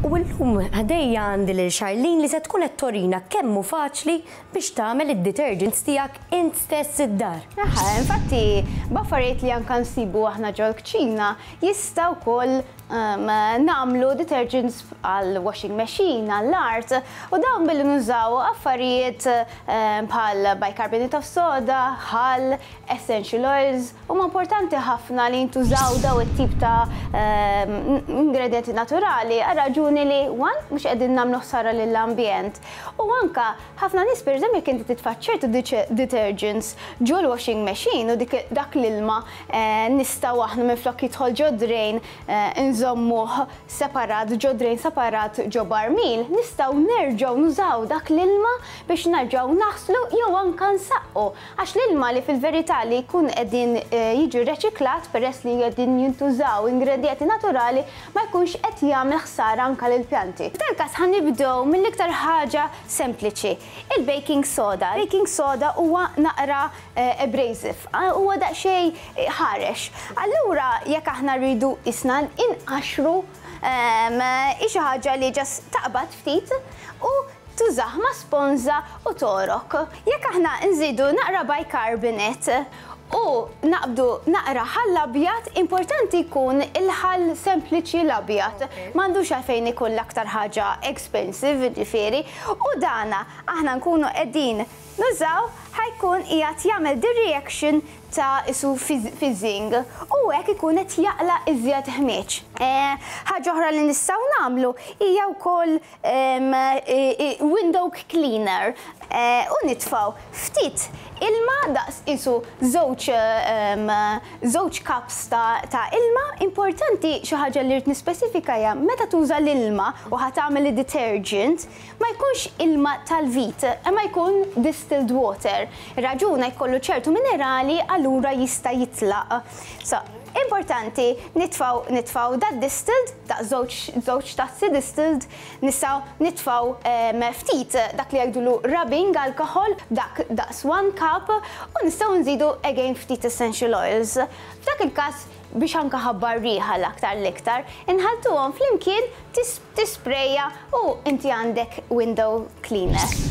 U llum ħdejja għandi lil Charlene li se tkun qed torina kemm hu faċli biex tagħmel id-detergents tiegħek int stess id-dar. Aha, infatti b'affarijiet li anka nsibu aħna ġol-kċina jista' wkoll nagħmlu detergents għal washing machine, għall-art, u dawn billi nużaw affarijiet bħal bicarbonate of soda, ħall, essential oils. Huma importanti ħafna li jintużaw daw it-tip ta' ingredjenti naturali għal raġuni li one, mhux qegħdin nagħmlu ħsara lill-ambjent. U anka ħafna nies pereżempju jekk inti titfa' ċertu detergents ġol washing machine u dik dak l-ilma nistgħu aħna minflok jidħol ġo drain nżommuh separat ġo drain separat ġo barmil, nistgħu nerġgħu nużaw dak l-ilma biex nerġgħu naħslu jew anka nsaqqu. Għax l-ilma li fil-verità li jkun qegħdin jiġi reċiklat peress li qegħdin jintużaw ingredjenti naturali ma jkunx qed jagħmel ħsara anke lill-pjanti. F'dan il-każ ħa nibdew mill-iktar ħaġa sempliċi, il-baking soda. Baking soda huwa naqra abrasive, huwa daqsxejn ħarex. Allura jekk aħna rridu qisna inqaxxru hi xi ħaġa li just taqbad ftit u tużah ma' sponża u togħrok. Jekk aħna nżidu naqra bicarbonate u naqbdu naqra ħall abjad, importanti jkun il-ħall sempliċi l-abjad. M'għandux għalfejn ikun l-aktar ħaġa expensive, jiġifieri, u dana aħna nkunu qegħdin nużaw ħa jkun qiegħed jagħmel the reaction ta' isu fizzing u hekk ikun qed jaqla' iżjed ħmieġ. Ħaġa oħra li nistgħu nagħmlu hija wkoll window cleaner u nitfgħu ftit ilma daqs qisu żewġ żewġ cups ta' ilma. Importanti xi ħaġa li rrid nispecifika hija meta tuża l-ilma u ħa tagħmel id-detergent ma jkunx ilma tal-vit imma jkun distilled water. Ir-raġuna jkollu ċertu minerali allura jista' jitlaq. So, importanti nitfgħu nitfgħu dad-distilled daqs żewġ żewġ tazzi distilled, nistgħu nitfgħu ftit dak li jgħidulu rubbing alcohol, dak daqs one cup, u nistgħu nżidu again ftit essential oils. F'dak il-każ biex anke ħabba r-riħa l-aktar l-iktar, inħalltuhom flimkien tisprejja u inti għandek window cleaner.